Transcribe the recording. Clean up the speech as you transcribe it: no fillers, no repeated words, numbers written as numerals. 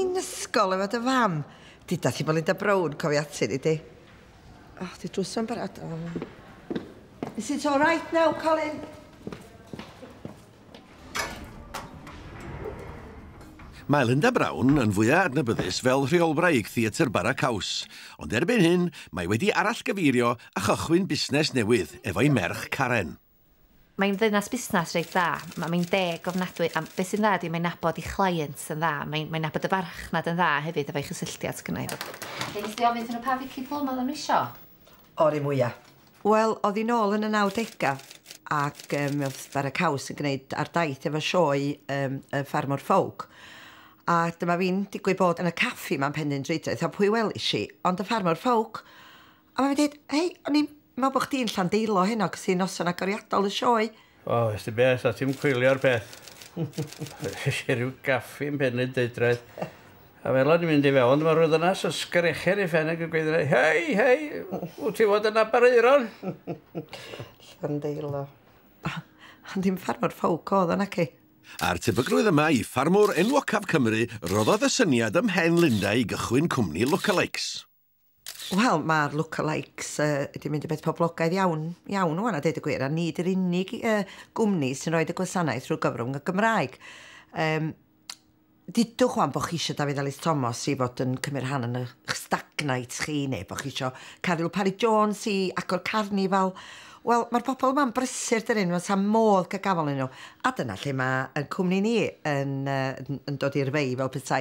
i'n ysgol efo dy fam. Duda thi bod Linda Brown cofio ati ni di. O, di drws o'n barod. Oh. Is it all right now, Colin? Mae Linda Brown yn fwyaf adnabyddus fel rheolwraig Theatr Bara Caws, ond erbyn hyn mae wedi arallgyfeirio a chychwyn busnes newydd efo'i merch Karen. Mae'n ddynas busnes reit dda, mae'n deg ofnadwy, a beth sy'n dda ydi mae'n nabod ei chlients yn dda, mae'n nabod y farchnad yn dda hefyd efo'i chysylltiad sgynna i. Nes di ofyn iddyn nhw pa Vicky Plum oedden nhw isio? O'r un mwyaf. Wel, oedd hi nôl yn y 90au ac oedd Bara Caws yn gwneud ar daith efo sioe y Ffarmwr Ffowc. A dyma fi'n digwydd bod yn y caffi ma'n Penrhyndeudraeth, a pwy welis i, ond y Ffarmwr Ffowc. A mae'n dweud, hei, o'n i'n meddwl bod chdi'n Llandeilo heno, cos hi'n noson agoriadol y sioe. O, ys di beth, a ti'n coelio'r peth. Es i ryw gaffi yn Penrhyndeudraeth. A fel o'n i'n mynd i fewn, dyma rhyw ddynas yn sgrechian ei phen ac yn gweiddi, hei, hei, wyt ti fod yn Aberaeron? Llandeilo. Ond dim Ffarmwr Ffowc oedd o, naci? A'r tebygrwydd yma i ffarmwr enwocaf Cymru roddodd y syniad ym mhen Linda i gychwyn cwmni Lookalikes. Wel, mae'r Lookalikes wedi mynd yn beth poblogaidd iawn, iawn ŵan, a deud y gwir, a nid yr unig gwmni sy'n rhoi y gwasanaeth drwy gyfrwng y Gymraeg. Dudwch wan bod chi eisiau Dafydd Elis Thomas i fod yn cymryd rhan yn y stag night chi, neu bod chi eisiau Caryl Parry Jones i agor carnifal. Wel, mae'r bobl yma'n brysur dydyn, mae'n sam modd cael gafel yn nhw. A dyna lle mae y cwmni ni yn dod i'r fei fel petai.